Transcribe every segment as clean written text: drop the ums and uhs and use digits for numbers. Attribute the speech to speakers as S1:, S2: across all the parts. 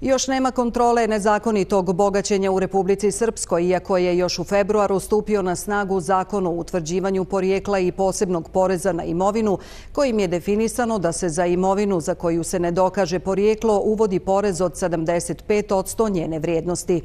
S1: Još nema kontrole nezakonitog bogaćenja u Republici Srpskoj, iako je još u februaru stupio na snagu Zakon o utvrđivanju porijekla i posebnog poreza na imovinu, kojim je definisano da se za imovinu za koju se ne dokaže porijeklo uvodi porez od 75% njene vrijednosti.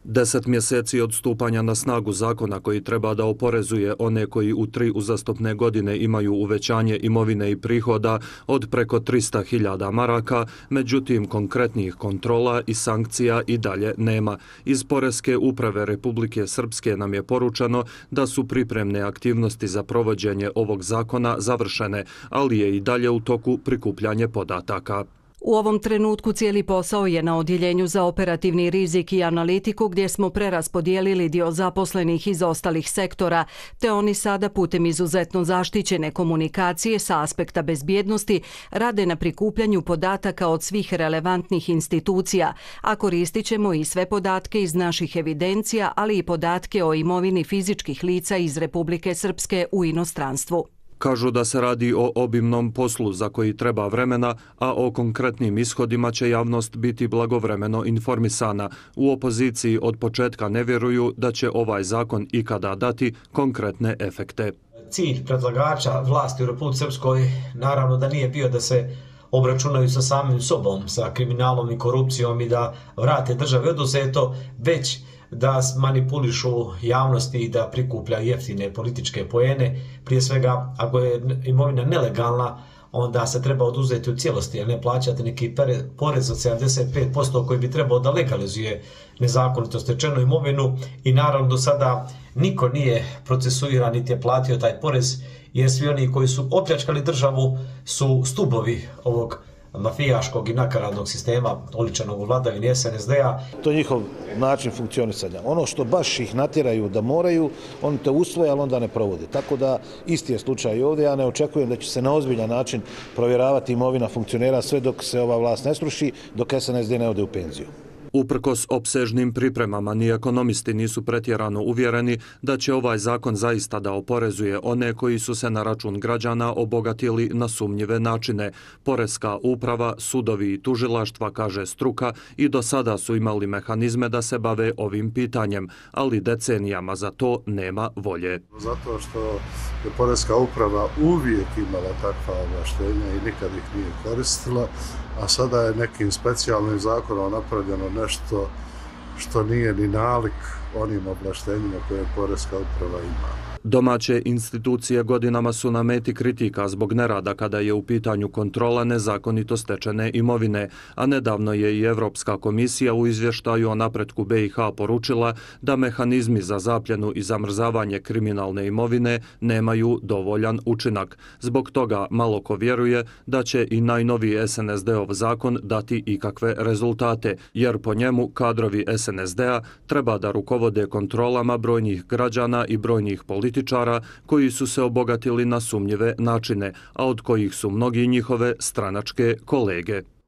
S2: 10 mjeseci od stupanja na snagu zakona koji treba da oporezuje one koji u 3 uzastopne godine imaju uvećanje imovine i prihoda od preko 300.000 maraka, međutim konkretnih kontrola i sankcija i dalje nema. Iz Poreske uprave Republike Srpske nam je poručeno da su pripremne aktivnosti za provođenje ovog zakona završene, ali je i dalje u toku prikupljanje podataka.
S1: U ovom trenutku cijeli posao je na odjeljenju za operativni rizik i analitiku, gdje smo preraspodijelili dio zaposlenih iz ostalih sektora, te oni sada putem izuzetno zaštićene komunikacije sa aspekta bezbjednosti rade na prikupljanju podataka od svih relevantnih institucija, a koristit ćemo i sve podatke iz naših evidencija, ali i podatke o imovini fizičkih lica iz Republike Srpske u inostranstvu.
S2: Kažu da se radi o obimnom poslu za koji treba vremena, a o konkretnim ishodima će javnost biti blagovremeno informisana. U opoziciji od početka ne vjeruju da će ovaj zakon ikada dati konkretne efekte.
S3: Cilj predlagača vlasti u Republici Srpskoj naravno da nije bio da se obračunaju sa samim sobom, sa kriminalom i korupcijom i da vrate državi oduzeto, već da manipulišu javnosti i da prikuplja jeftine političke poene. Prije svega, ako je imovina nelegalna, onda se treba oduzeti u cijelosti, a ne plaćati neki porez od 75% koji bi trebao da legalizuje nezakonito stečenu imovinu. I naravno do sada niko nije procesuiran niti je platio taj porez, jer svi oni koji su opljačkali državu su stubovi ovog mafijaškog i nakaradnog sistema oličenog u vladavini SNSD-a.
S4: To je njihov način funkcionisanja. Ono što baš ih natjeraju da moraju, oni to usvoje, ali onda ne provode. Tako da isti je slučaj i ovdje. Ja ne očekujem da će se na ozbiljan način provjeravati imovina funkcionera sve dok se ova vlast ne sruši, dok SNSD ne ode u penziju.
S2: Uprkos opsežnim pripremama, ni ekonomisti nisu pretjerano uvjereni da će ovaj zakon zaista da oporezuje one koji su se na račun građana obogatili na sumnjive načine. Poreska uprava, sudovi i tužilaštva, kaže struka, i do sada su imali mehanizme da se bave ovim pitanjem, ali decenijama za to nema volje.
S5: Zato što je Poreska uprava uvijek imala takva ovlaštenja i nikad ih nije koristila, a sada je nekim specijalnim zakonom napravljeno nešto što nije ni nalik onim ovlaštenjima koje Poreska uprava ima.
S2: Domaće institucije godinama su na meti kritika zbog nerada kada je u pitanju kontrola nezakonito stečene imovine, a nedavno je i Evropska komisija u izvještaju o napretku BiH poručila da mehanizmi za zapljenu i zamrzavanje kriminalne imovine nemaju dovoljan učinak. Zbog toga malo ko vjeruje da će i najnoviji SNSD-ov zakon dati ikakve rezultate, jer po njemu kadrovi SNSD-a treba da rukovode kontrolama brojnih građana i brojnih političara koji su se obogatili na sumnjive načine, a od kojih su mnogi njihove stranačke kolege.